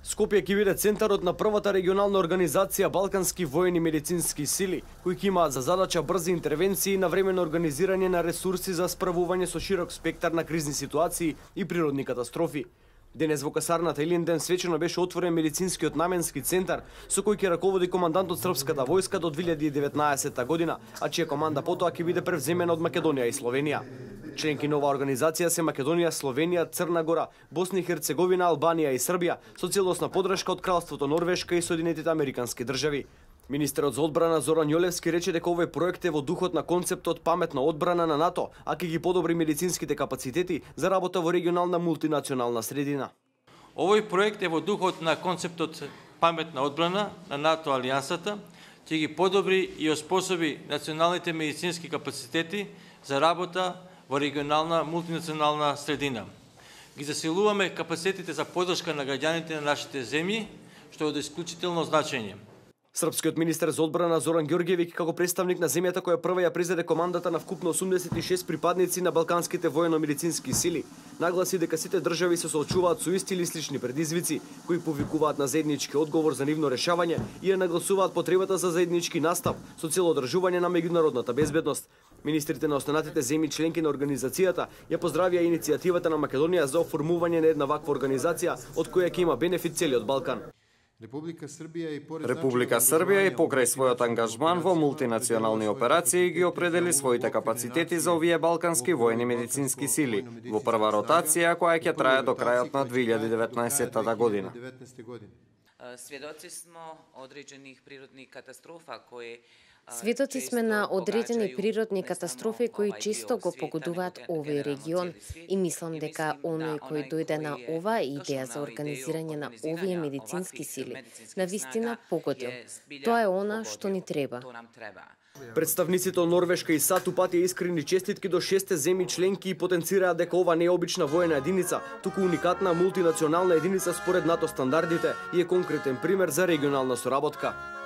Скопје ќе биде центарот на првата регионална организација Балкански воени медицински сили, кои ќе имаат за задача брзи интервенции и навремено организирање на ресурси за справување со широк спектар на кризни ситуации и природни катастрофи. Денес во касарната Илинден свечено беше отворен медицинскиот наменски центар, со кој ќе раководи командантот Српската војска до 2019 година, а чија команда потоа ќе биде превземена од Македонија и Словенија. Членки на оваа организација се Македонија, Словенија, Црна Гора, Босна и Херцеговина, Албанија и Србија, со целосна подршка од Кралството Норвешка и Соединетите Американски држави. Министерот за одбрана Зоран Јолевски рече дека овој проект е во духот на концептот паметна одбрана на НАТО, а ќе ги подобри медицинските капацитети за работа во регионална мултинационална средина. Овој проект е во духот на концептот паметна одбрана на НАТО алијансата, ќе ги подобри и оспособи националните медицински капацитети за работа во регионална мултинационална средина. Ги засилуваме капацитетите за поддршка на граѓаните на нашите земји, што е од исклучително значење. Српскиот министер за одбрана Зоран Ѓорѓевиќ, како представник на земјата која прва ја презеде командата на вкупно 86 припадници на балканските воено-медицински сили, нагласи дека сите држави се соочуваат со исти или слични предизвици, кои повикуваат на заеднички одговор за нивно решавање и ја нагласуваат потребата за заеднички настап со цел одржување на меѓународната безбедност. Министрите на останатите земји членки на организацијата ја поздравија иницијативата на Македонија за оформување на една ваква организација од која ќе има бенефит целиот Балкан. Република Србија и покрај својот ангажман во мултинационални операции ги определи своите капацитети за овие балкански воени медицински сили во прва ротација која ќе трае до крајот на 2019 година. Сведоци смо одреđenih prirodnih katastrofa koje Сведоци сме на одредени природни катастрофи кои често го погодуваат овој регион и мислам дека оној кој дојде на оваа идеја за организирање на овие медицински сили навистина погодил. Тоа е она што ни треба. Представниците од Норвешка и САД упатија искрени честитки до 6 земји членки и потенцираат дека ова не е обична воена единица, туку уникатна мултинационална единица според НАТО стандардите и е конкретен пример за регионална соработка.